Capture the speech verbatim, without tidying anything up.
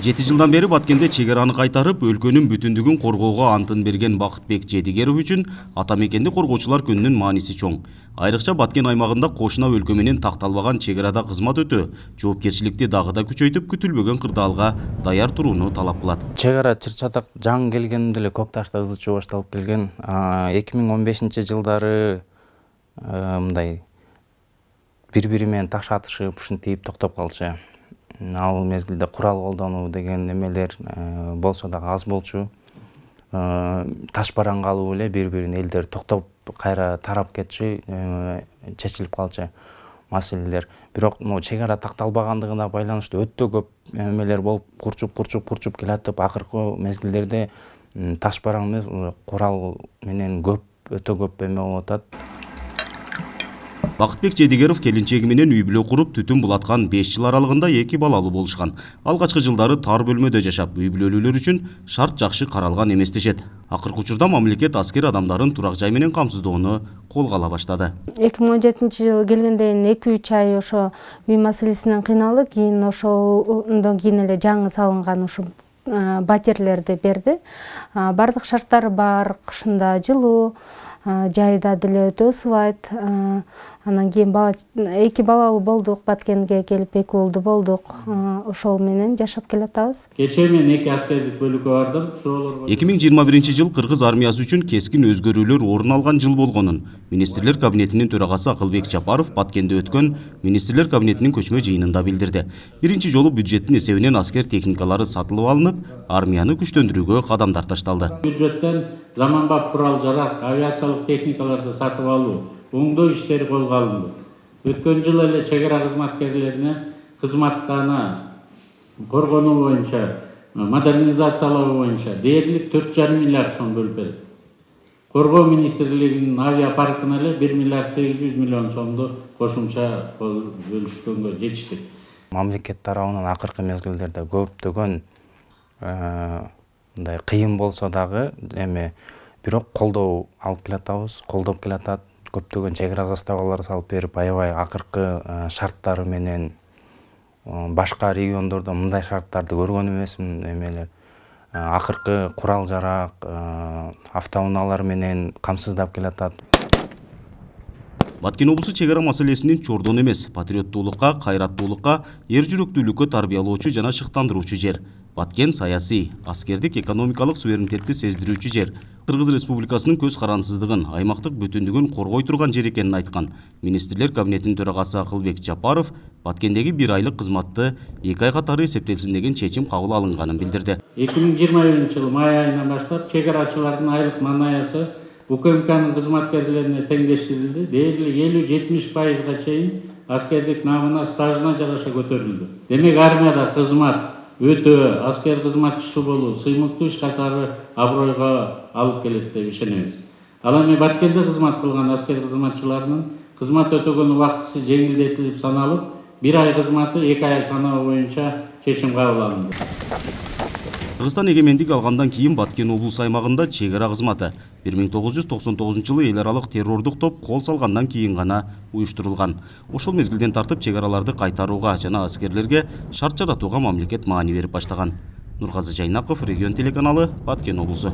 жети жылдан бери Баткенде чек араны кайтарып, өлкөнүн бүтүндүгүн коргоого антын берген Бакытбек Жедигеров үчүн ата мекенди коргоочулар күнүнүн мааниси чоң. Айрыкча Баткен аймагында кошуна өлкө менен такталбаган чек арада кызмат өтөө, жоопкерчиликти дагы да күчөйтүп, күтүлбөгөн кырдаалга даяр турууну талап кылат. Чек ара чыр-чатак жаңы келгенде эле Көк Ташта ызы чуу башталып келген. эки миң он бешинчи жылдары мындай бири-бири менен таш атышып, ушинтип токтоп калчу. Ал мезгилде курал колдонуу деген немелер болсо дагы аз болчу. Таш бараң калуу эле бири-бирин элдер токтоп кайра тарап кетчү, чечилип калчу маселелер. Бирок могу чек ара такталбагандыгына байланыштуу өтө көп немелер болуп, курчуп курчуп курчуп келатып, акыркы мезгилдерде таш бараң эмес, курал менен көп, өтө көп эме болуп атат. Бакытбек Жедигеров келинчеги менен үй бүлө куруп, түтүн булаткан беш жыл аралыгында эки балалуу болушкан. Алгачкы жылдары тар бөлмөдө жашап, үй бүлөлүүлөр үчүн шарт жакшы каралган эмес дешет. Акыркы учурда мамлекет аскер адамдарын турак жай менен камсыздоону колго ала баштады. эки миң он жетинчи жылы келгенден эки үч ай ошо үй маселесинен кыйналып, кийин ошондон кийин эле жаңы салынган ушу батирлерди берди. Бардык шарттары бар, кышында жылуу, жайда деле өтө ысыбайт. Анан кийин эки балалуу болдук, Баткенге келип эки уулду болдук. Ошол менен жашап келатабыз. Кечээ мен эки аскердик бөлүккө бардым. Суроолорго эки миң жыйырма биринчи жыл кыргыз армиясы үчүн кескин өзгөрүүлөр орун алган жыл болгонун министрлер кабинетинин төрагасы Акылбек Жапаров Баткенде өткөн министрлер кабинетинин көчмө жыйынында билдирди. Биринчи жолу бюджеттин эсебинен аскер техникалары сатылып алынып, армияны күчтөндүрүүгө кадамдар ташталды. Бюджеттен заманбап курал-жарак, авиациялык техникаларды сатып алуу, оңдоо иштери колго алынды. Өткөн жылы эле чек ара кызматкерлерине кызматтана коргонуу боюнча, модернизациялоо боюнча дээрлик төрт жарым миллиард сом бөлүп берилди. Коргоо министрлигинин авиапаркына эле бир миллиард сегиз жүз миллион сомду кошумча бөлүшкөнгө жетиштик. Мамлекет тарабынан акыркы мезгилдерде көптөгөн мындай кыйын болсо дагы эми бирок колдоо алып келатабыз, колдоп келатат. Көптөгөн чек ара заставалар салып берип, аябай акыркы шарттары менен башка региондордо мындай шарттарды көргөн эмесмин. Эмелер акыркы курал-жарак, автоунаалар менен камсыздап келатат. Баткен облусу чек ара маселесинин чордон эмес, патриоттуулукка, кайраттуулукка, эр жүрөктүүлүккө тарбиялоочу жана шыктандыруучу жер. Баткен саясий, аскердик, экономикалык суверенитетти сездирүүчү жер. Кыргыз Республикасынын көз карансыздыгын, аймактык бүтүндүгүн коргой турган жер экенин айткан министрлер кабинетинин төрагасы Акылбек Жапаров Баткендеги бир айлык кызматты эки ай катары эсептелсин деген чечим кабыл алынганын билдирди. эки миң жыйырма биринчи жылы май айынан баштап чек арачылардын айлык манаясы УКМКнын кызматкерлерине теңдештирилди. Дээрлик элүү жетимиш пайызга чейин аскердик намына, стажына жараша көтөрүлдү. Демек армияда кызмат өтө, аскер кызматчысы болуу сыймыктуу иш катары абройго алып келет деп ишенебиз. Ал эми Баткенде кызмат кылган аскер кызматчыларынын кызмат өтөгөн убактысы жеңилдетилип саналып, бир ай кызматы эки ай саноо боюнча чечим кабыл алынды. Кыргызстан эгемендик алгандан кийин Баткен облус аймагында чек ара кызматы бир миң тогуз жүз токсон тогузунчу жылы эл аралык террордук топ кол салгандан кийин гана уюштурулган. Ошол мезгилден тартып чек араларды кайтарууга жана аскерлерге шарт жаратууга мамлекет маани берип баштаган. Нургазы Жайнаков, Регион телеканалы, Баткен облусу.